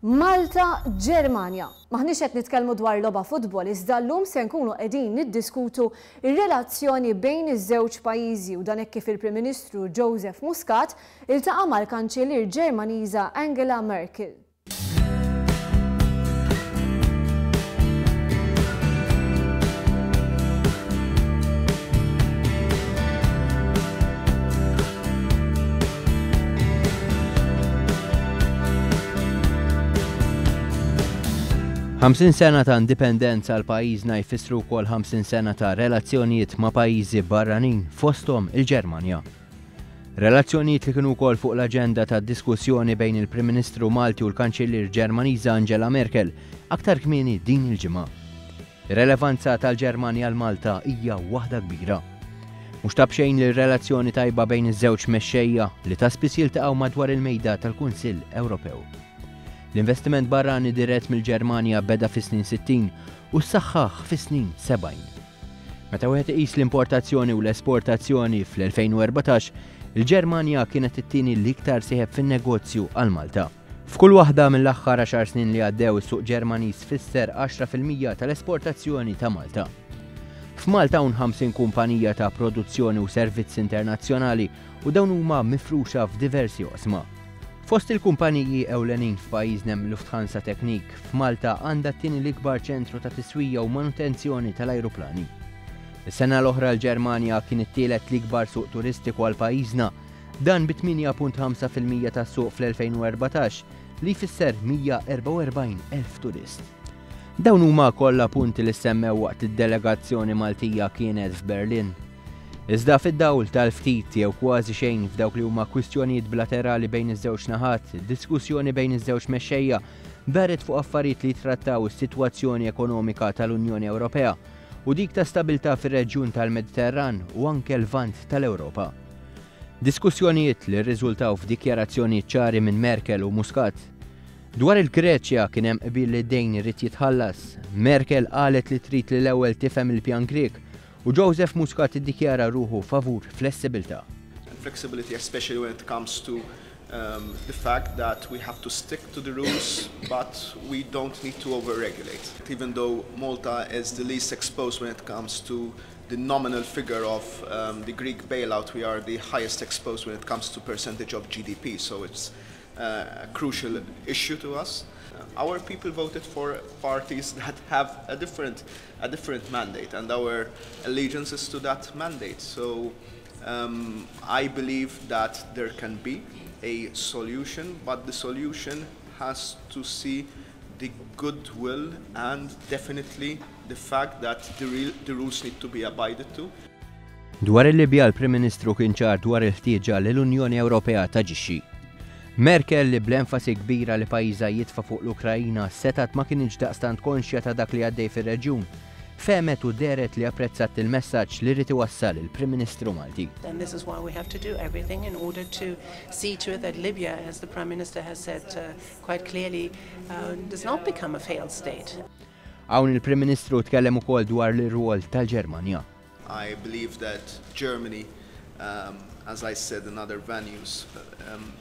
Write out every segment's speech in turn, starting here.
Malta, Ġermanja. M'aħniex qed nitkellmu dwar logħba futbol iżda llum se nkunu qegħdin niddiskutu r-relazzjoni bejn iż-żewġ pajjiżi u dan hekk kif il-Prim Ministru Joseph Muscat iltaqa' mal-Kanċillier Ġermaniża Angela Merkel. 50 sena ta' indipendenza għal pajjiżna jfissru wkoll 50 sena ta' relazzjonijiet ma' pajjiżi barranin fosthom il-Ġermanja. Relazzjonijiet li kienu wkoll fuq l-aġenda ta' diskussjoni bejn il-Prim Ministru Malti u l-Kanċillier Ġermaniża Angela Merkel aktar kmieni din il-ġimgħa. Ir-relevanza tal-Ġermanja għal Malta hija waħda kbira. Mhux ta' b'xejn li r-relazzjoni tajba bejn iż-żewġ mexxejja li ta' spiss jiltaqgħu madwar il-mejda tal-Kunsill Ewropew. L-investiment barrani dirett mill-Ġermanja beda fis-snin 60 u ssaħħaħ fis-snin 70. Meta wieħed iqis l-importazzjoni u l-esportazzjoni fl-2014, il-Ġermanja kienet it-tieni l-iktar sieħeb fin-negozju għal Malta. F'kull waħda mill-aħħar għaxar snin li għaddew is-suq Ġermaniż fisser 10% tal-esportazzjoni ta' Malta. F'Malta hawn 50 kumpanija ta' produzzjoni u servizzi internazzjonali u dawn huma mifruxa f'diversi oqsma. Fost il-kumpaniji ewlenin f'pajjiżna hemm Lufthansa Technik, f'Malta għandha t-tieni l-ikbar ċentru ta' tiswija u manutenzjoni tal-ajruplani. Is-sena l-oħra l-Ġermanja kien it-tielet l-ikbar suq turistiku għal pajjiżna Dan bi 8.5% tas-suq fl-2014 li jfisser 144,000 turist. Dawn huma kollha punti li ssemmew waqt id-delegazzjoni Maltija kienet f'Berlin. Iżda fid-dawl tal-ftit jew kważi xejn f'dawk li huma kwistjonijiet bilaterali bejn iż-żewġ naħat, id-diskussjoni bejn iż-żewġ mexxejja daret fuq affarijiet li jittrattaw is-sitwazzjoni ekonomika tal-Unjoni Ewropea u dik ta' stabilità fir-reġjun tal-Mediterran u anke l-Lvant tal-Ewropa. Diskussjonijiet li rriżultaw f'dikjarazzjonijiet ċari minn Merkel u Muscat. Dwar il-Greċja kien hemm qbil li d-dejn irid jitħallas. Merkel qalet li trid li l-ewwel tifhem il-pjan Grieg u Joseph Muscat iddikjara ruħu favur flessibilità. And flexibility especially when it comes to um, the fact that we have to stick to the rules but we don't need to overregulate. Even though Malta is the least exposed when it comes to the nominal figure of um, the Greek bailout, we are the highest exposed when it comes to percentage of GDP, so it's uh, a crucial issue to us. Our people voted for parties that have a different, a different mandate, and our allegiance is to that mandate. So um, I believe that there can be a solution, but the solution has to see the goodwill and definitely the fact that the, real, the rules need to be abided to. Dwar il-Libja l-Prim Ministru kien ċar dwar il-ħtieġa li l-Unjoni Ewropea taġixxi. Merkel li bl-enfasi kbira li pajjiżha jitfa' fuq l-Ukrajina setgħet ma kinitx daqstant konxja ta' dak li għaddej fir-reġjun, fehmet u dehret li apprezzat il-messaġġ li ried iwassal il-Prim Ministru Malti. And this is why we have to do everything in order to see to it that Libya, as the Prime Minister has said uh, quite clearly, uh, does not become a failed state. Hawn il-Prim Ministru tkellem ukoll dwar l-irwol tal-Ġermanja. I believe that Germany, um, as I said in other venues, um,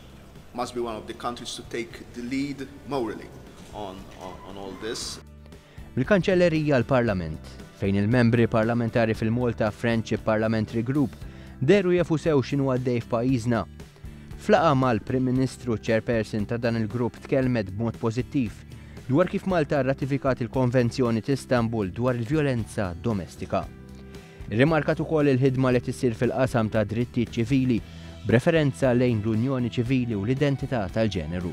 must be one of the countries to take the lead morally on, on, on all this. Mill-Kanċellerija l-Parlament, fejn il-membri parlamentari fil-Malta Friendship Parliamentary Group dehru jafu sew x'inhu għaddej f'pajjiżna. F'laqgħa mal-Prim Ministru chairperson ta' dan il-grupp tkellmet b'mod pożittiv dwar kif Malta rratifikat il-Konvenzjoni t'Istanbul dwar il-vjolenza domestika. Irrimarkat ukoll il-ħidma li tisir fil-qasam ta' drittijiet ċivili b'referenza lejn l-unjoni ċivili u l-identità tal-ġeneru.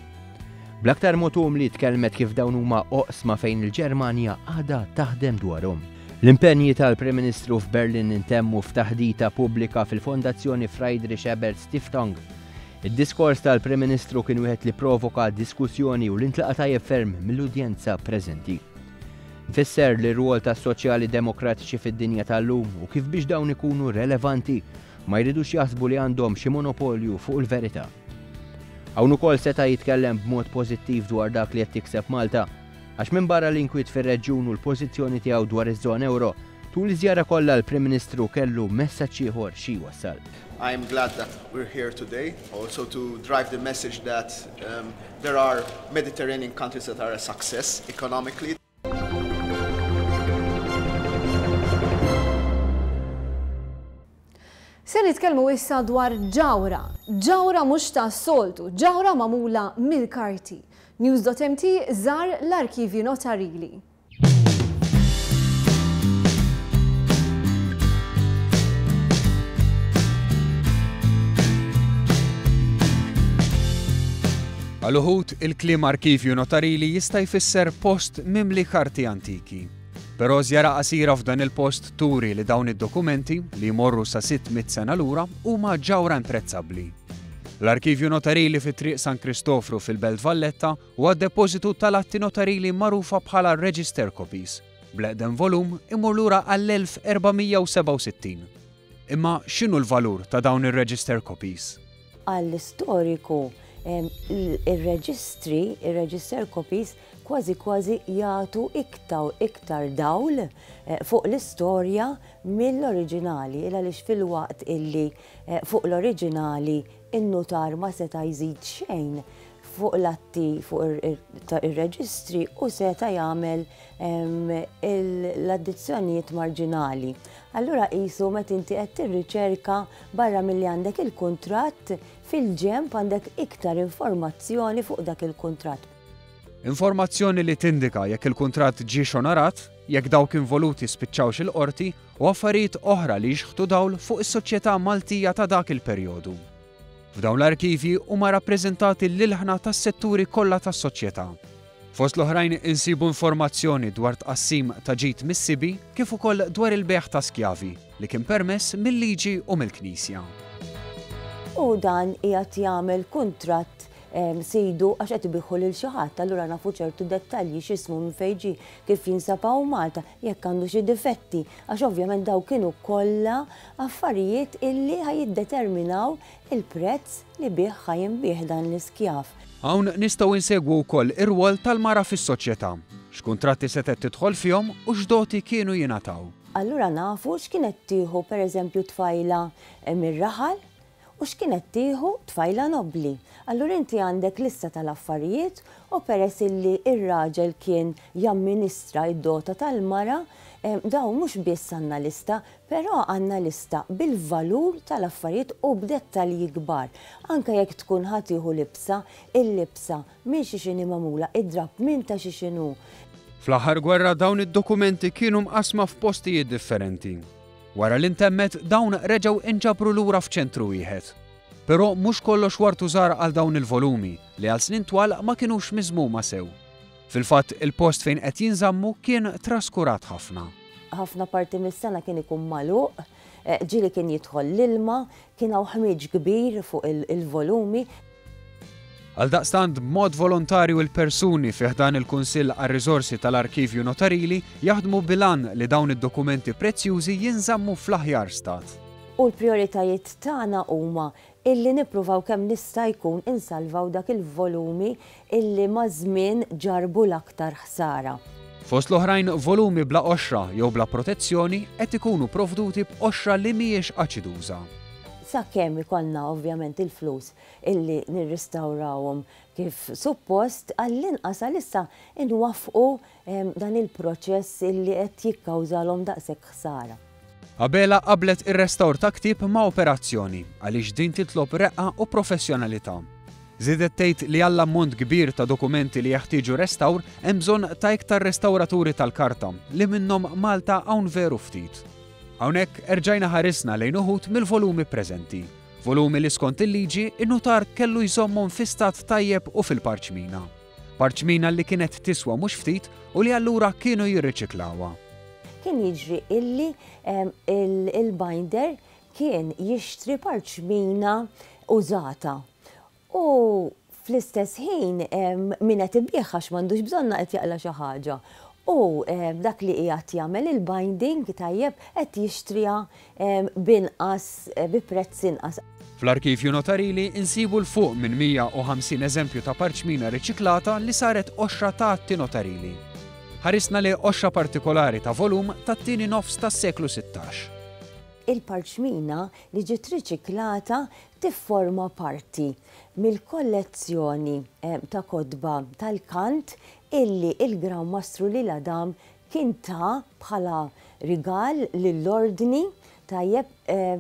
Bl-aktar mod umli tkellmet kif dawn huma oqsma fejn il-Ġermanja għadha taħdem dwarhom. L-impenji tal-Prim Ministru f'Berlin intemmu f'taħdita pubblika fil-Fondazzjoni Friedrich Ebert Stiftung. Id-diskors tal-Prim Ministru kien wieħed li provoka diskussjoni u li ntlaqa' tajjeb ferm mill-udjenza preżenti. Fisser li r-rwol tas-soċjali demokratiċi fid-dinja tal-lum u kif biex dawn ikunu relevanti ma jridux jaħsbu li għandhom xi monopolju fuq il-verità. Hawn ukoll seta' jitkellem b'mod pożittiv dwar dak li qed tikseb Malta, għax minbarra l-inkwiet fir-reġjun u l-pożizzjoni tiegħu dwar iż-żona ewro, Tul iż-żjara kollha l-Prim Ministru kellu messaġġ ieħor xi jwassal. I am glad that we're here today also to drive the message that um, there are Mediterranean countries that are a success economically. Se nitkellmu issa dwar ġawhra. Ġawhra mhux tas-soltu, ġawhra magħmula mill-karti. News.mt żar l-arkivji notarili. Għal uħud, il-kliem arkivju notarili jista' jfisser post mimli karti antiki. Però żjara qasira f'dan il-post turi li dawn id-dokumenti, li jmorru sa 600 sena lura, huma ġawhra imprezzabbli. L-Arkivju Notarili fi Triq San Kristofru fil-Belt Valletta Huwa d-depożitu tal-atti notarili magħrufa bħala register copies, bl-eqdem volum imur lura għall-1467. Imma x'inhu l-valur ta' dawn ir-register copies? Għall-istoriku, ir-reġistri, ir-register copies, kważi kważi jagħtu iktar iktar dawl fuq l-istorja mill-oriġinali, il għaliex filwaqt illi fuq l-oriġinali in-nutar ma seta' jżid xejn fuq l-atti fuq ir-reġistri u seta' jagħmel l-addizzjonijiet marġinali. Allura qisu meta inti qed tirriċerka barra milli għandek il-kuntratt fil-ġenb għandek iktar informazzjoni fuq dak il-kuntratt. Informazzjoni li tindika jekk il-kuntratt ġiex onorat, jekk dawk involuti spiċċawx il-qorti u affarijiet oħra li jixħtu dawl fuq is-soċjetà Maltija ta' dak il-perjodu. F'dawn l-arkivji huma rappreżentati l-ilħna tas-setturi kollha tas-soċjetà. Fost l-oħrajn insibu informazzjoni dwar tqassim ta' ġid mis-sibi kif ukoll dwar il-bejgħ ta' skjavi li kien permess mil-liġi u mill-Knisja. U dan qiegħed jagħmel kuntratt sidu għax qed ibiħħu lil xi ħadd, allura nafu ċertu dettalji x'ismu minn fejn ġie, kif jinsab hawn Malta, jekk għandu xi difetti, għax ovvjament dawn kienu kollha affarijiet illi ħa jiddeterminaw il-prezz li bih ħa jinbiegħ dan l-iskjav. Hawn nistgħu insegwu wkoll ir-rwol tal-mara fis-soċjetà, x'kuntratti setgħet tidħol fihom u x'doti kienu jingħataw. Allura nafu x'kienet tieħu pereżempju tfajla mir-raħal u x'kienet tieħu tfajla nobbli. Allura inti għandek lista tal-affarijiet u peress illi r-raġel kien jamministra d-dota tal-mara, dawn mhux biss għandna lista, però għandna lista bil-valur tal-affarijiet u b'dettalji kbar. Anke jekk tkun ħa tieħu libsa, il-libsa minn xiex inhi magħmula, id-drapp minn ta' xiex inhu. Fl-aħħar gwerra dawn id-dokumenti kienu mqassma f'postijiet differenti. Wara li ntemmet, dawn reġgħu inġabru lura f'ċentru wieħed. Però mhux kollox wartu żgħar għal dawn il-volumi, li għal snin twal ma kinux miżmuma sew. Fil-fatt, il-post fejn qed jinżammu kien traskurat ħafna. Ħafna parti mis-sena kien ikun magħluq, ġieli kien jidħol l-ilma, kien hawn ħmieġ kbir fuq il-volumi. Għaldaqstant b'mod volontarju il-persuni fi ħdan il-Kunsill għar-Riżorsi tal-Arkivju Notarili jaħdmu bil-għan li dawn id-dokumenti prezzjużi jinżammu fl-aħjar stat. U l-prijoritajiet tagħna huma illi nippruvaw kemm nista' jkun insalvaw dak il-volumi illi maż-żmien ġarrbu l-aktar ħsara. Fost l-oħrajn volumi bla qoxra jew bla protezzjoni qed ikunu provduti b'qoxra li mhijiex aċiduża. Sakemm ikollna ovvjament il-flus illi nirristawrawhom kif suppost, għall-inqas għalissa nwaffqu dan il-proċess illi qed jikkawżalhom daqshekk ħsara. Abela qabblet ir-restawr ta' ktieb ma' operazzjoni għaliex din titlob reqqa u professjonalità. Żiedet tgħid li għall-ammont kbir ta' dokumenti li jeħtieġu restawr hemm bżonn ta' iktar restawraturi tal-karta li minnhom Malta hawn veru ftit. Hawnhekk erġajna ħarisna lejn uħud mill-volumi preżenti. Volumi li skont il-liġi, in-nutar kellu jżommhom fi stat tajjeb u fil-parċmina. Parċmina li kienet tiswa mhux ftit u li allura kienu jirriċiklawha. Kien jiġri illi il-binder kien jixtri parċmina użata U fl-istess ħin min qed ibigħ għax m'għandux bżonnha qed jaqla' xi ħaġa. U dak li qiegħed jagħmel il-binding tajjeb qed jixtriha b'inqas bi prezz inqas. Fl-arkivju notarili insibu 'l fuq minn 150 eżempju ta' parċmina riċiklata li saret qoxra ta' atti notarili. Ħarisna lejn qoxra partikolari ta' volum tat-tieni nofs tas-seklu 16. Il-parċmina li ġiet riċiklata tifforma parti mill-kollezzjoni ta' kotba tal-kant illi il-Gran Mastru L'Isle-Adam kien ta bħala rigal lill-Ordni, tajjeb,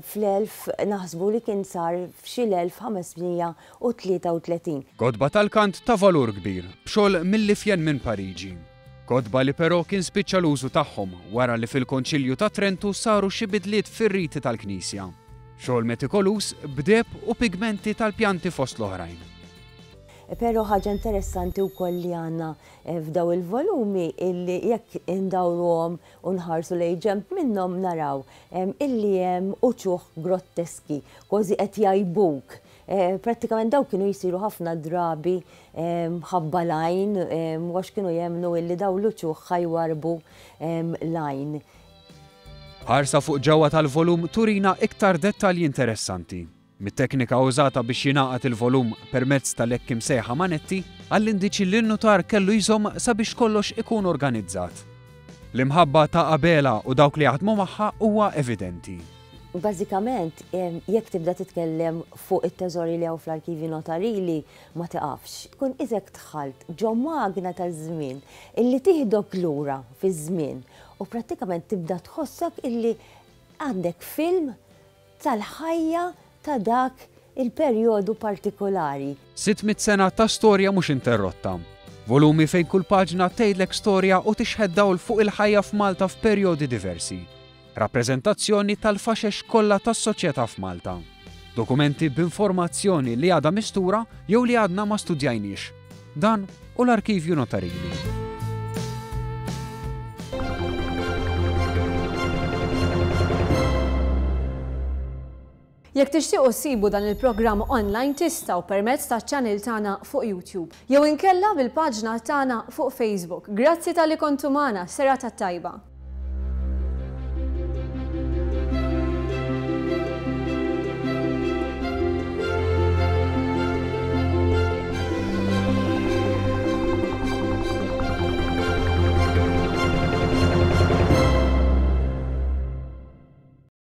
fl-elf, naħsbu li kien sar f'xi l-1533. Kotba tal-kant ta' valur kbir, b'xogħol mill-ifjen minn Pariġi. Kotba li però kien spiċċa l-użu tagħhom wara li fil-Konċilju ta' Trentu saru xi bidliet fir-riti tal-Knisja. Xogħol metikoluż b'deheb u pigmenti tal-pjanti fost l-oħrajn. Però ħaġa interessanti wkoll li għandna f'daw il-volumi illi jekk indawruhom u nħarsu lejn ġenb minnhom naraw illi hemm uċuħ grotteski, kważi qed jgħajbuk. Prattikament daw kienu jsiru ħafna drabi mħabba l-għajn għax kienu jemmnu illi daw l-uċuħ ħa jwarrbu l-għajn. Ħarsa fuq ġewwa tal-volum turina iktar dettalji interessanti. Mit-teknika użata biex jingħaqad il-volum permezz tal-hekk imsejħa manetti, għall-indiċi li n-nutar kellu jżomm sabiex kollox ikun organizzat. L-imħabba ta' Abela u dawk li jaħdmu magħha huwa evidenti. Bażikament, jekk tibda titkellem fuq it-teżori li hawn fl-arkivji notarili, ma tiqafx. Tkun qisek dħalt ġo magna taż-żmien illi tieħdok lura fiż-żmien u prattikament tibda tħossok illi għandek film tal-ħajja ta' dak il-perjodu partikolari. 600 sena ta' storja mhux interrotta. Volumi fejn kull paġna tgħidlek storja u tixħet dawl fuq il-ħajja f'Malta f'perjodi diversi. Rappreżentazzjoni tal-faxex kollha tas-soċjetà f'Malta. Dokumenti b'informazzjoni li għadha mistura jew li għadna ma studjajniex. Dan hu l-Arkivju Notarili. Jekk tixtiequ ssibu dan il-programm online tistgħu permezz taċ-channel tagħna fuq YouTube jew inkella bil-paġna tagħna fuq Facebook. Grazzi talli kontu magħna, serata tajba.